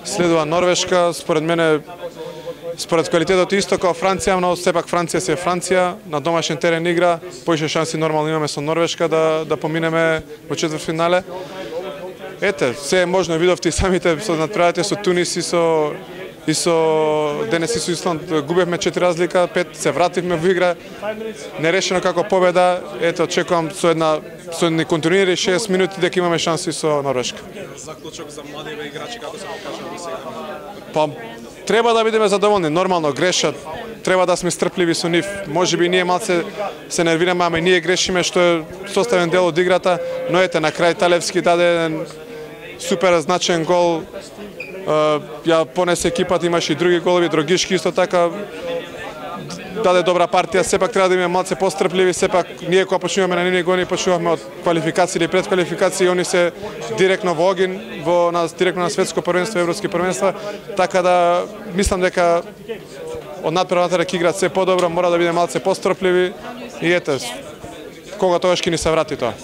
Следува Норвешка, според мене, според квалитетот исто како Франција, но сепак Франција си е Франција, на домашен терен игра, поише шанси нормално имаме со Норвешка да поминеме во четвртфинале. Ете, се е можно, видовте и самите со надпреварите со Тунис и со денес и со Исланд губевме 4 разлика, 5 се вративме во игра. Нерешено како победа, ете очекувам со едни континуирани 60 минути дека имаме шанси со Норвешка. Заклучок за младиве играчи како се покажа до сега? Па треба да бидеме задоволни, нормално грешат. Треба да сме стрпливи со нив. Можеби ние малце се нервираме, ама и ние грешиме што е составен дел од играта, но ете на крај Талевски даде еден супер значен гол. Ја понесе екипата, имаше и други голови, Дрогишки исто така даде добра партија, сепак треба да имаме малце пострпливи, сепак ние кога почнуваме на нивни гони, почнуваме од квалификации или предквалификации, они се директно во огин, директно на светско првенство, европски првенства, така да мислам дека од надпреварата ќе играат се подобро, мора да биде малце пострпливи и ете, кога тогаш ќе ни се врати тоа.